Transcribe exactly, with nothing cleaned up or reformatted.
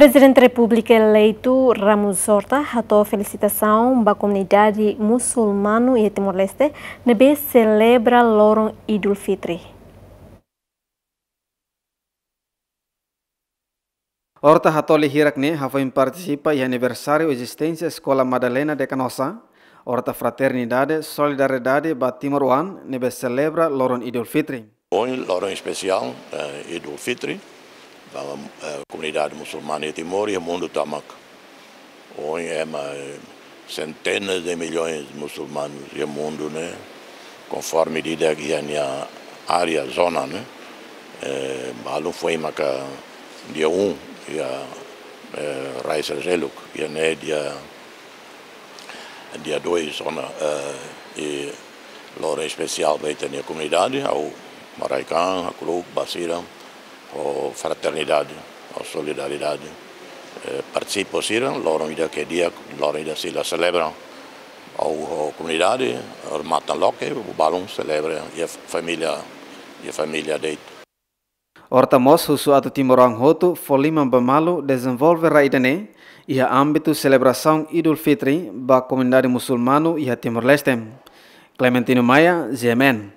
Prezidente Repúblika eleitu Ramos Horta hato'o felisitasaun ba komunidade musulmanu iha Timor-Leste ne'ebé selebra loron Idul Fitri. Horta hato'o lia hirak-ne'e hafoin partisipa iha aniversáriu ezisténsia Eskola Madalena de Canossa. Horta fraternidade, solidariedade ba timoroan ne'ebé selebra loron Idul Fitri. Ohin loron espesiál, eh, Idul Fitri, ba, eh, komunidade musulmana iha Timor iha mundu tomak. Ohin ema, eh, centenas de milhões musulmanus iha mundu ne'e, konforme di'ak iha nia área, zona ne'e, eh, balun foin maka dia um iha, eh, Rai Seljuk, iha ne'e dia, dia dois zona, eh, i loron espesiál ba ita-nia komunidade, ha'u maraikaang, hakru'uk ba sira, ho fraternidade, ho solidariedade. Eh, partisipa sira, loron ida ke dia, loron ida sira selebra. Ha'u ho komunidade, remata loke, balun selebra, iha família, iha família de'it. Horta mós husu atu timoroan hotu fó liman ba malu dezenvolve rai ida-ne'e iha ámbitu selebrasaun Idul Fitri ba komunidade musulmanu iha Timor-Leste. Clementino Maia, G M N.